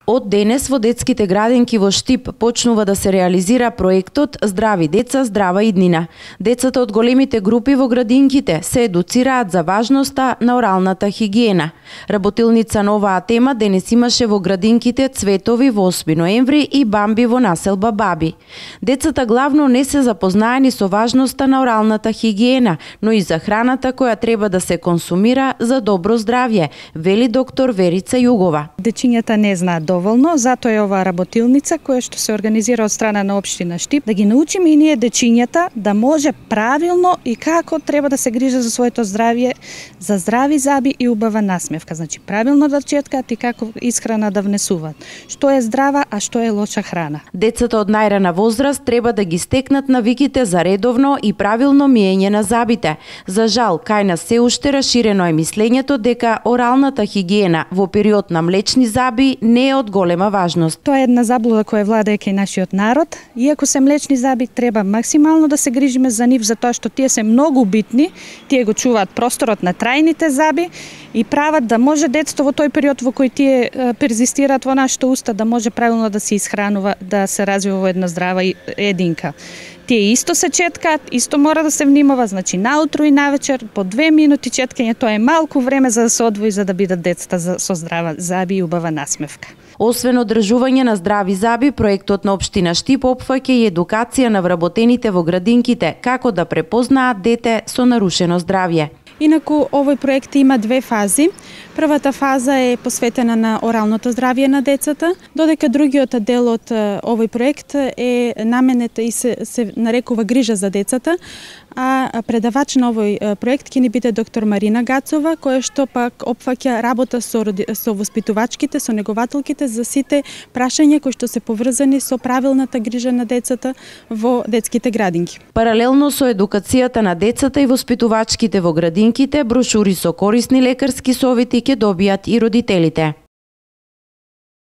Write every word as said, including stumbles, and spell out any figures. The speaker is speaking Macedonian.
Од денес во детските градинки во Штип почнува да се реализира проектот Здрави деца, здрава иднина. Децата од големите групи во градинките се едуцираат за важноста на оралната хигиена. Работилница на оваа тема денес имаше во градинките Цветови во осми ноември и Бамби во населба Баби. Децата главно не се запознаени со важноста на оралната хигиена, но и за храната која треба да се консумира за добро здравје, вели доктор Верица Југова. Дечињата не знаат доволно, затоа е оваа работилница која што се организира од страна на општина Штип, да ги научиме и ние дечињата да може правилно и како треба да се грижат за своето здравје, за здрави заби и убава насмевка. Значи правилно да четкаат и како исхрана да внесуваат. Што е здрава, а што е лоша храна. Децата од најрана возраст треба да ги стекнат навиките за редовно и правилно миење на забите. За жал, кај нас се уште расширено е мислењето дека оралната хигиена во период на млечни заби не е од голема важност. Тоа е една заблуда која владее кај нашиот народ. Иако се млечни заби, треба максимално да се грижиме за нив, затоа што тие се многу битни, тие го чуваат просторот на трајните заби и прават да може детство во тој период во кој тие перзистираат во нашите уста да може правилно да се исхранува, да се развива во една здрава единка. Тие исто се четкаат, исто мора да се внимава, значи наутро и навечер по две минути четкање, тоа е малку време за да се одвои за да бидат децата со здрава заби и убава насмевка. Освен одржување на здрави заби, проектот на општина Штип опфаќа и едукација на вработените во градинките како да препознаат дете со нарушено здравје. Инаку, овој проект има две фази. Првата фаза е посветена на оралното здравје на децата, додека другиот дел од овој проект е наменет и се, се нарекува грижа за децата, а предавач на овој проект ќе ни биде доктор Марина Гацова, која што пак опфаќа работа со, со воспитувачките, со негователките за сите прашања кои што се поврзани со правилната грижа на децата во детските градинки. Паралелно со едукацијата на децата и воспитувачките во градинките, брошури со корисни лекарски совети ќе добијат и родителите.